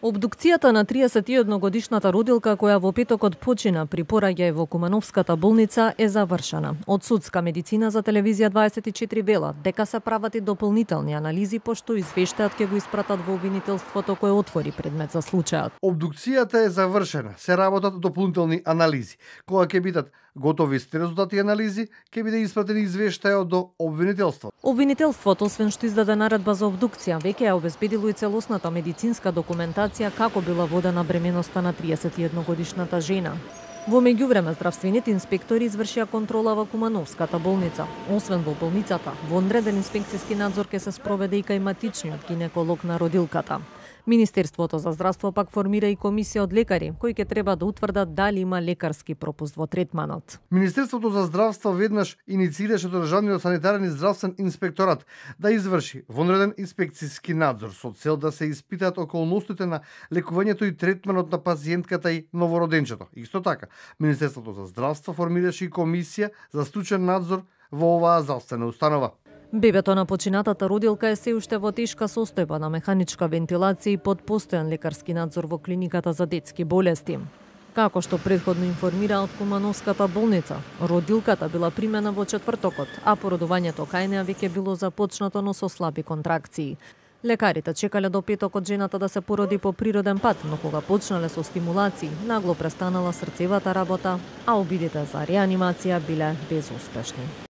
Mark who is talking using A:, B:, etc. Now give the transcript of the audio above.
A: Обдукцијата на 31-годишната родилка која во петокот почина при пораѓај во Кумановската болница е завршена. Од судска медицина за телевизија 24 велат дека се прават и дополнителни анализи пошто извештајот ќе го испратат во обвинителството кое отвори предмет за случајот.
B: Обдукцијата е завршена, се работат дополнителни анализи. Кога ќе бидат готови сите резултати анализи, ќе биде испратен извештајот до обвинителството.
A: Обвинителството, освен што издаде наредба за обдукција, веќе ја обезбедило и целосната медицинска документација како била водена бременоста на 31-годишната жена. Во меѓувреме, здравствените инспектори извршија контрола во Кумановската болница. Освен во болницата, во одреден инспекцијски надзор ќе се спроведе и кај матичниот гинеколог на родилката. Министерството за здравство пак формира и комисија од лекари, кои ќе треба да утврдат дали има лекарски пропуст во третманот.
B: Министерството за здравство веднаш инициираше Државниот санитарен и здравствен инспекторат да изврши вонреден инспекцијски надзор со цел да се испитаат околностите на лекувањето и третманот на пациентката и новороденчето. Исто така, Министерството за здравство формираше и комисија за стручен надзор во оваа здравствена установа.
A: Бебето на починатата родилка е се уште во тешка состојба на механичка вентилација и под постојан лекарски надзор во клиниката за детски болести. Како што претходно информира од Кумановската болница, родилката била примена во четвртокот, а породувањето кај неа веќе било започнато, но со слаби контракции. Лекарите чекале до петокот жената да се породи по природен пат, но кога почнале со стимулации, нагло престанала срцевата работа, а обидите за реанимација биле безуспешни.